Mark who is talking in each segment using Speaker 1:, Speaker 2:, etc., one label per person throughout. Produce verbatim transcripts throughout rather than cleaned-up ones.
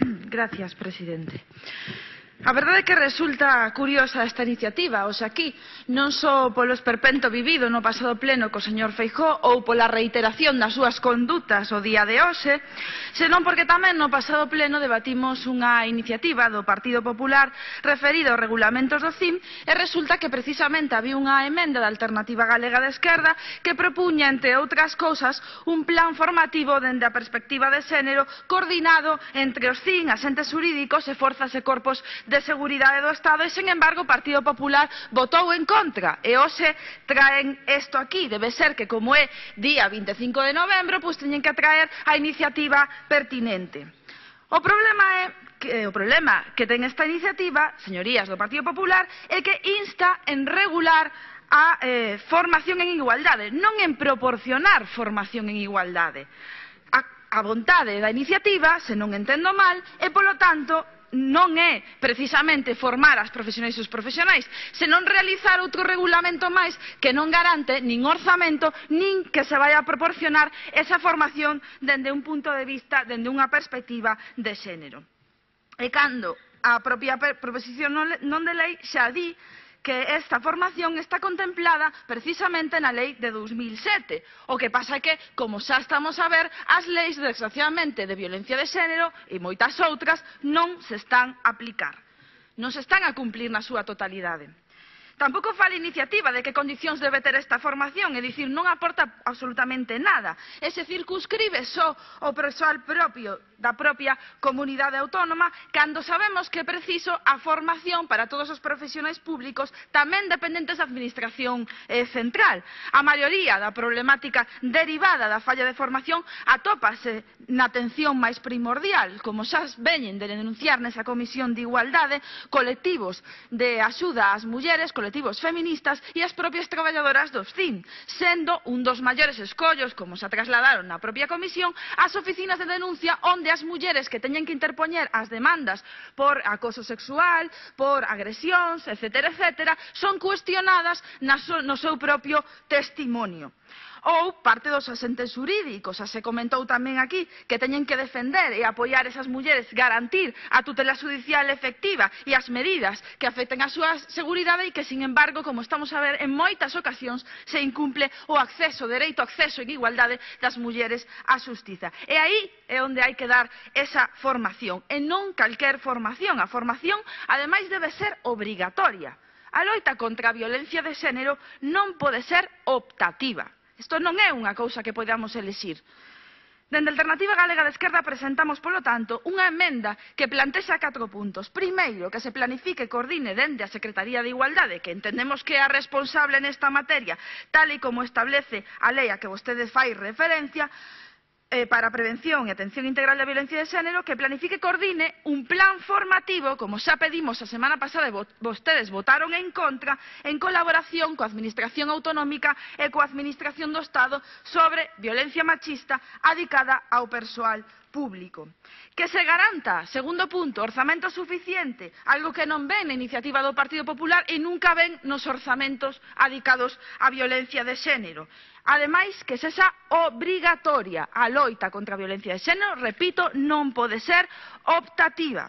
Speaker 1: Gracias, presidente. A verdade é que resulta curiosa esta iniciativa, hoxe aquí, non só polo esperpento vivido no pasado pleno co señor Feijóo ou pola reiteración das súas condutas o día de hoxe, senón porque tamén no pasado pleno debatimos unha iniciativa do Partido Popular referida aos regulamentos do C I M e resulta que precisamente había unha emenda da Alternativa Galega de Esquerda que propuña, entre outras cousas, un plan formativo dende a perspectiva de xénero coordinado entre os C I M, asentes xurídicos e forzas e corpos de seguridade do Estado e, sen embargo, o Partido Popular votou en contra e hoxe traen isto aquí. Debe ser que, como é día vinte e cinco de novembro, pois teñen que traer a iniciativa pertinente. O problema é que o problema que ten esta iniciativa, señorías do Partido Popular, é que insta en regular a eh, formación en igualdade, non en proporcionar formación en igualdade. A, a vontade da iniciativa, se non entendo mal, e, polo tanto, non é precisamente formar as profesionais e os profesionais, senón realizar outro regulamento máis que non garante nin orzamento, nin que se vai a proporcionar esa formación dende un punto de vista, dende unha perspectiva de xénero. E cando a propia proposición non de lei xa di que esta formación está contemplada precisamente na lei de dous mil sete. O que pasa é que, como xa estamos a ver, as leis, desgraciadamente, de violencia de xénero e moitas outras non se están a aplicar. Non se están a cumplir na súa totalidade. Tampouco fala a iniciativa de que condicións debe ter esta formación, é dicir, non aporta absolutamente nada. E se circunscribe só o persoal propio da propia comunidade autónoma, cando sabemos que é preciso a formación para todos os profesionais públicos tamén dependentes da administración eh, central. A maioría da problemática derivada da falla de formación atópase na atención máis primordial, como xa veñen de denunciar nesa Comisión de Igualdade, colectivos de axuda ás mulleres, colectivos feministas e as propias traballadoras dos C I M, sendo un dos maiores escollos, como se trasladaron na propia Comisión, as oficinas de denuncia onde as mulleres que teñen que interpoñer as demandas por acoso sexual, por agresións, etcétera, etcétera, son cuestionadas no seu propio testimonio. Ou parte dos asentes xurídicos, xa se comentou tamén aquí, que teñen que defender e apoiar esas mulleres, garantir a tutela judicial efectiva e as medidas que afecten a súa seguridade e que, sin embargo, como estamos a ver, en moitas ocasións se incumple o acceso, o dereito ao acceso en igualdade das mulleres á xustiza. E aí é onde hai que dar esa formación, e non calquer formación. A formación, ademais, debe ser obrigatoria. A loita contra a violencia de xénero non pode ser optativa. Isto non é unha cousa que podamos elixir. Dende a Alternativa Galega de Esquerda presentamos, polo tanto, unha emenda que plantexa catro puntos. Primeiro, que se planifique e coordine dende a Secretaría de Igualdade, que entendemos que é a responsable nesta materia, tal e como establece a lei a que vostede fai referencia, para a prevención e atención integral da violencia de xénero, que planifique e coordine un plan formativo, como xa pedimos a semana pasada e vostedes votaron en contra, en colaboración coa Administración Autonómica e coa Administración do Estado sobre violencia machista adicada ao persoal público. Que se garanta, segundo punto, orzamento suficiente, algo que non ven na iniciativa do Partido Popular e nunca ven nos orzamentos adicados á violencia de xénero. Ademais, que sexa obrigatoria a loita contra a violencia de xénero, repito, non pode ser optativa.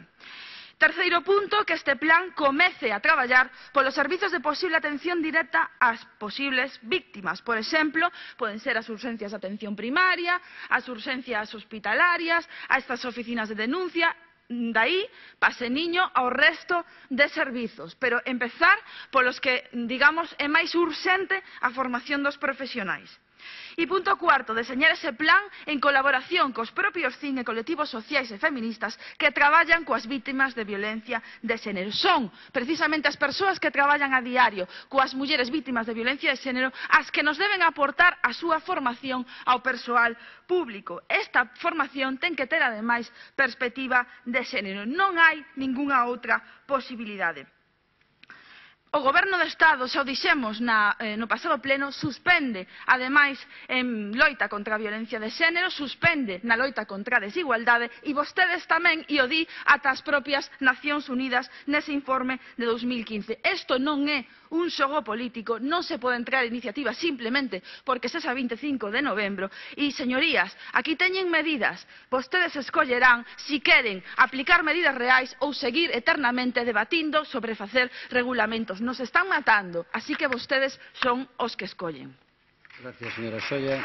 Speaker 1: Terceiro punto, que este plan comece a traballar polos servizos de posible atención directa ás posibles víctimas. Por exemplo, poden ser as urxencias de atención primaria, as urxencias hospitalarias, a estas oficinas de denuncia, dai pase niño ao resto de servizos, pero empezar polos que, digamos, é máis urxente a formación dos profesionais. E punto cuarto, deseñar ese plan en colaboración cos propios C I M e colectivos sociais e feministas que traballan coas vítimas de violencia de xénero. Son precisamente as persoas que traballan a diario coas mulleres vítimas de violencia de xénero as que nos deben aportar a súa formación ao persoal público. Esta formación ten que ter, ademais, perspectiva de xénero. Non hai ningunha outra posibilidade. O Goberno do Estado, xa o dixemos na, eh, no pasado pleno, suspende, ademais, en loita contra a violencia de xénero, suspende na loita contra a desigualdade e vostedes tamén, e o di ata as propias Nacións Unidas nese informe de dos mil quince. Isto non é un xogo político, non se pode entrar iniciativa simplemente porque sexa vinte e cinco de novembro. E, señorías, aquí teñen medidas. Vostedes escollerán si queren aplicar medidas reais ou seguir eternamente debatindo sobre facer regulamentos. Nos están matando, así que vostedes son os que escollen.
Speaker 2: Gracias, señora Solla.